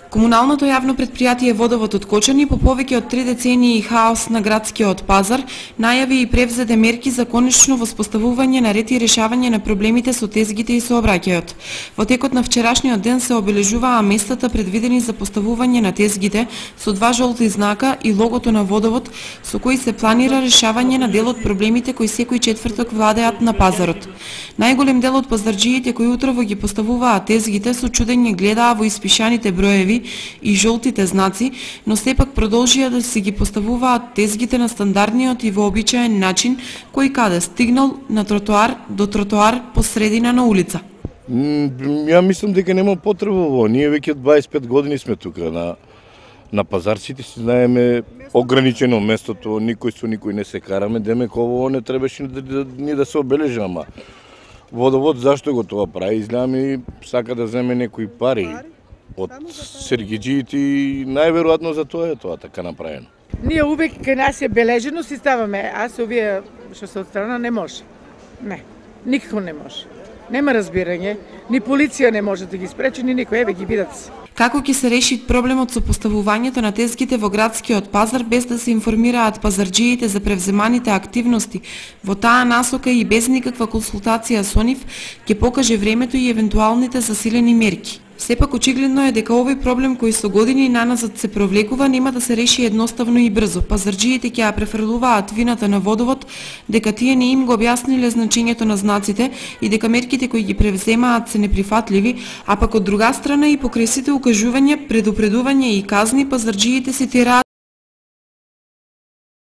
Комуналното јавно претпријатие Водовод од Кочани по повеќе од 3 децении хаос на градскиот пазар најави и превзеде мерки за конечно воспоставување на ред и решавање на проблемите со тезгите и сообраќајот. Во текот на вчерашниот ден се обележуваа местата предвидени за поставување на тезгите со 2 жолти знака и логото на Водовод со кои се планира решавање на дел од проблемите кои секој четврток владеат на пазарот. Најголем дел од пазарџиите кои утрово ги поставуваа тезгите со чудење гледаа во испишаните броеви и жолтите знаци, но сепак продолжија да се ги поставуваат тезгите на стандардниот и вообичаен начин кој каде стигнал на тротоар до тротоар по средина на улица. Ја мислам дека нема потреба во. Ние веќе 25 години сме тука на пазарците, си знаеме ограничено местото, никој со никој не се караме, демек ово не требаше да се обележи, ама Водовод зашто го тоа прави? Изгледа ми сака да земе некои пари од сергиџиите и најверојатно за тоа е тоа така направено. Ние увек кај нас е бележено си ставаме, а се овие што се отстрана не може. Не, никако не може. Нема разбирање, ни полиција не може да ги спречи, ни никој, еве ги видат се. Како ќе се реши проблемот со поставувањето на тезгите во градскиот пазар без да се информираат пазарџиите за превземаните активности? Во таа насока и без никаква консултација со нив ќе покаже времето и евентуалните засилени мерки. Сепак очигледно е дека овој проблем кој со години наназад се провлекува нема да се реши едноставно и брзо. Пазарџиите ќе ја префрлуваат вината на Водовод дека тие не им го објасниле значењето на знаците и дека мерките кои ги превземаат се неприфатливи, а пак од друга страна и покрај сите укажувања, предупредување и казни пазарџиите се тераат